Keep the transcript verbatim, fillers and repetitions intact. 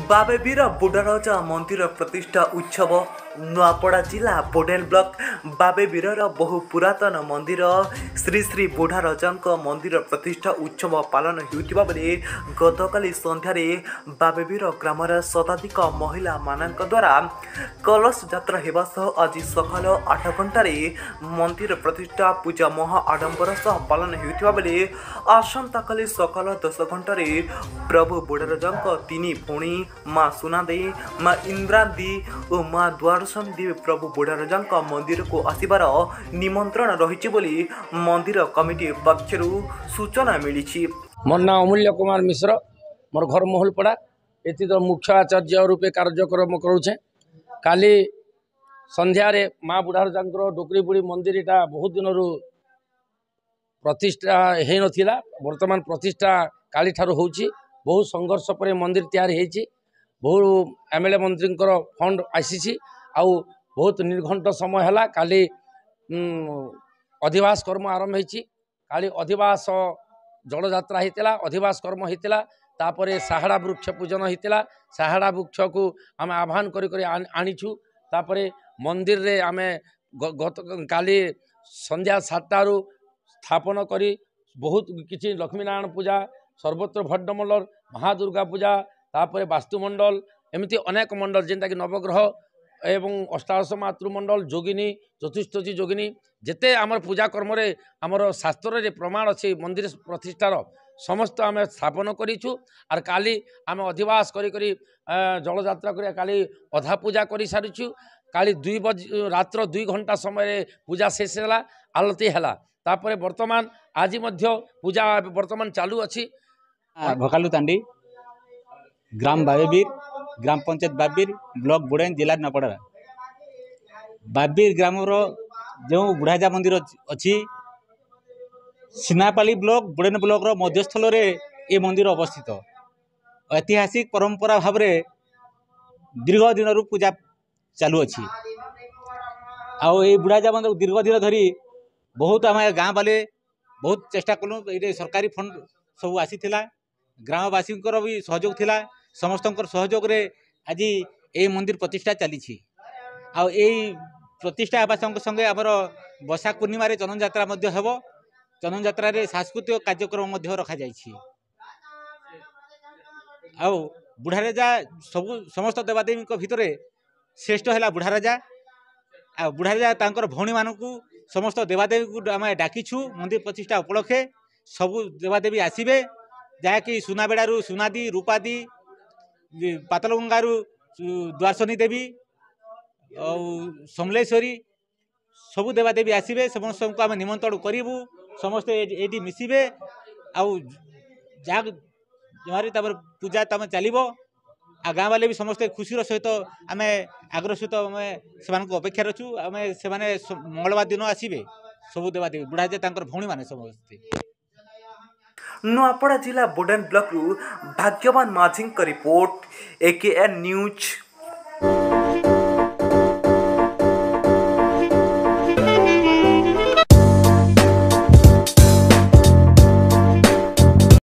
ବାବେବୀର ବୁଢ଼ାରଜା ମନ୍ଦିର ପ୍ରତିଷ୍ଠା ଉତ୍ସବ। ନୂଆପଡ଼ା ଜିଲ୍ଲା ବୋଡେଲ ବ୍ଲକ ବାବେବୀରର ବହୁ ପୁରାତନ ମନ୍ଦିର ଶ୍ରୀ ଶ୍ରୀ ବୁଢ଼ାରଜାଙ୍କ ମନ୍ଦିର ପ୍ରତିଷ୍ଠା ଉତ୍ସବ ପାଳନ ହେଉଥିବା ବେଳେ ଗତକାଲି ସନ୍ଧ୍ୟାରେ ବାବେବୀର ଗ୍ରାମର ଶତାଧିକ ମହିଳାମାନଙ୍କ ଦ୍ୱାରା କଳସ ଯାତ୍ରା ହେବା ସହ ଆଜି ସକାଳ ଆଠ ଘଣ୍ଟାରେ ମନ୍ଦିର ପ୍ରତିଷ୍ଠା ପୂଜା ମହା ଆଡ଼ମ୍ବର ସହ ପାଳନ ହେଉଥିବା ବେଳେ ଆସନ୍ତାକାଲି ସକାଳ ଦଶ ଘଣ୍ଟାରେ ପ୍ରଭୁ ବୁଢ଼ାରଜାଙ୍କ ତିନି ଭଉଣୀ ମା ସୁନାଦେଇ, ମା ଇନ୍ଦ୍ରାଦୀ ଓ ମା ଦ୍ୱାରସନୀ ଦେବୀ ପ୍ରଭୁ ବୁଢ଼ାରଜାଙ୍କ ମନ୍ଦିରକୁ ଆସିବାର ନିମନ୍ତ୍ରଣ ରହିଛି ବୋଲି ମନ୍ଦିର କମିଟି ପକ୍ଷରୁ ସୂଚନା ମିଳିଛି। ମୋର ନାଁ ଅମୂଲ୍ୟ କୁମାର ମିଶ୍ର, ମୋର ଘର ମହୁଲପଡ଼ା। ଏଥି ତ ମୁଖ୍ୟ ଆଚାର୍ଯ୍ୟ ରୂପେ କାର୍ଯ୍ୟକ୍ରମ କରୁଛେ। କାଲି ସନ୍ଧ୍ୟାରେ ମା ବୁଢ଼ାରଜାଙ୍କର ଡୋକରୀ ବୁଢ଼ୀ ମନ୍ଦିରଟା ବହୁତ ଦିନରୁ ପ୍ରତିଷ୍ଠା ହେଇନଥିଲା, ବର୍ତ୍ତମାନ ପ୍ରତିଷ୍ଠା କାଲିଠାରୁ ହେଉଛି। ବହୁତ ସଂଘର୍ଷ ପରେ ମନ୍ଦିର ତିଆରି ହେଇଛି, ବହୁ ଏମ୍ ଏଲ୍ ଏ ମନ୍ତ୍ରୀଙ୍କର ଫଣ୍ଡ ଆସିଛି ଆଉ ବହୁତ ନିର୍ଘଣ୍ଟ ସମୟ ହେଲା। କାଲି ଅଧିବାସ କର୍ମ ଆରମ୍ଭ ହେଇଛି। କାଲି ଅଧିବାସ ଜଳଯାତ୍ରା ହେଇଥିଲା, ଅଧିବାସ କର୍ମ ହେଇଥିଲା, ତାପରେ ସାହାଡ଼ା ବୃକ୍ଷ ପୂଜନ ହେଇଥିଲା। ସାହାଡ଼ା ବୃକ୍ଷକୁ ଆମେ ଆହ୍ୱାନ କରି କରି ଆଣିଛୁ। ତାପରେ ମନ୍ଦିରରେ ଆମେ ଗତ କାଲି ସନ୍ଧ୍ୟା ସାତଟାରୁ ସ୍ଥାପନ କରି ବହୁତ କିଛି ଲକ୍ଷ୍ମୀନାରାୟଣ ପୂଜା, ସର୍ବତ୍ର ଭଟ୍ଟମଣ୍ଡଳ, ମହାଦୁର୍ଗା ପୂଜା, ତାପରେ ବାସ୍ତୁମଣ୍ଡଳ, ଏମିତି ଅନେକ ମଣ୍ଡଳ ଯେନ୍ଟାକି ନବଗ୍ରହ ଏବଂ ଅଷ୍ଟାଦଶ ମାତୃମଣ୍ଡଳ, ଯୋଗିନୀ, ଚତୁଷ୍ଠୀ ଯୋଗିନୀ, ଯେତେ ଆମର ପୂଜା କର୍ମରେ ଆମର ଶାସ୍ତ୍ରରେ ପ୍ରମାଣ ଅଛି ମନ୍ଦିର ପ୍ରତିଷ୍ଠାର, ସମସ୍ତ ଆମେ ସ୍ଥାପନ କରିଛୁ। ଆର୍ କାଲି ଆମେ ଅଧିବାସ କରି କରି ଜଳଯାତ୍ରା କରି କାଲି ଅଧା ପୂଜା କରିସାରିଛୁ। କାଲି ଦୁଇ ବଜ ରାତ୍ର ଦୁଇ ଘଣ୍ଟା ସମୟରେ ପୂଜା ଶେଷ ହେଲା, ଆଳତି ହେଲା। ତାପରେ ବର୍ତ୍ତମାନ ଆଜି ମଧ୍ୟ ପୂଜା ବର୍ତ୍ତମାନ ଚାଲୁଅଛି। ଭକାଲୁ ତାଣ୍ଡି, ଗ୍ରାମ ବାବେବୀର, ଗ୍ରାମ ପଞ୍ଚାୟତ ବାବିର, ବ୍ଲକ ବୁଡ଼େନ, ଜିଲ୍ଲା ନୂଆପଡ଼ା। ବାବିର ଗ୍ରାମର ଯେଉଁ ବୁଢ଼ାଜା ମନ୍ଦିର ଅଛି, ସିନାପାଲି ବ୍ଲକ ବୁଡ଼େନ ବ୍ଲକର ମଧ୍ୟସ୍ଥଳରେ ଏ ମନ୍ଦିର ଅବସ୍ଥିତ। ଐତିହାସିକ ପରମ୍ପରା ଭାବରେ ଦୀର୍ଘ ଦିନରୁ ପୂଜା ଚାଲୁଅଛି। ଆଉ ଏଇ ବୁଢ଼ାଜା ମନ୍ଦିର ଦୀର୍ଘ ଦିନ ଧରି ବହୁତ ଆମେ ଗାଁ ବାଲେ ବହୁତ ଚେଷ୍ଟା କଲୁ। ଏଇଠି ସରକାରୀ ଫଣ୍ଡ ସବୁ ଆସିଥିଲା, ଗ୍ରାମବାସୀଙ୍କର ବି ସହଯୋଗ ଥିଲା। ସମସ୍ତଙ୍କର ସହଯୋଗରେ ଆଜି ଏଇ ମନ୍ଦିର ପ୍ରତିଷ୍ଠା ଚାଲିଛି। ଆଉ ଏଇ ପ୍ରତିଷ୍ଠା ହେବା ସଙ୍ଗେ ସଙ୍ଗେ ଆମର ବୈଶାଖ ପୂର୍ଣ୍ଣିମାରେ ଚନ୍ଦନ ଯାତ୍ରା ମଧ୍ୟ ହେବ। ଚନ୍ଦନ ଯାତ୍ରାରେ ସାଂସ୍କୃତିକ କାର୍ଯ୍ୟକ୍ରମ ମଧ୍ୟ ରଖାଯାଇଛି। ଆଉ ବୁଢ଼ାରଜା ସବୁ ସମସ୍ତ ଦେବାଦେବୀଙ୍କ ଭିତରେ ଶ୍ରେଷ୍ଠ ହେଲା ବୁଢ଼ାରଜା। ଆଉ ବୁଢ଼ାରଜା ତାଙ୍କର ଭଉଣୀମାନଙ୍କୁ ସମସ୍ତ ଦେବାଦେବୀଙ୍କୁ ଆମେ ଡାକିଛୁ ମନ୍ଦିର ପ୍ରତିଷ୍ଠା ଉପଲକ୍ଷେ। ସବୁ ଦେବାଦେବୀ ଆସିବେ, ଯାହାକି ସୁନାବେଡ଼ାରୁ ସୁନାଦି, ରୂପାଦି, ପାତଲଗଙ୍ଗାରୁ ଦ୍ୱାରସନୀ ଦେବୀ ଆଉ ସମଲେଶ୍ୱରୀ, ସବୁ ଦେବାଦେବୀ ଆସିବେ। ସମସ୍ତଙ୍କୁ ଆମେ ନିମନ୍ତ୍ରଣ କରିବୁ, ସମସ୍ତେ ଏଇଠି ମିଶିବେ। ଆଉ ଯାହା ଯାହାରି ତାପରେ ପୂଜା ତମେ ଚାଲିବ। ଆଉ ଗାଁ ବାଲେ ବି ସମସ୍ତେ ଖୁସିର ସହିତ ଆମେ ଆଗ୍ରହ ସହିତ ଆମେ ସେମାନଙ୍କୁ ଅପେକ୍ଷାରେ ଅଛୁ। ଆମେ ସେମାନେ ମଙ୍ଗଳବାର ଦିନ ଆସିବେ ସବୁ ଦେବାଦେବୀ, ବୁଢ଼ା ତାଙ୍କର ଭଉଣୀମାନେ ସମସ୍ତେ। ନୂଆପଡ଼ା ଜିଲ୍ଲା ବୋଡେନ ବ୍ଲକରୁ ଭାଗ୍ୟବାନ ମାଝୀଙ୍କ ରିପୋର୍ଟ, ଏକେଏନ୍ ନ୍ୟୁଜ୍।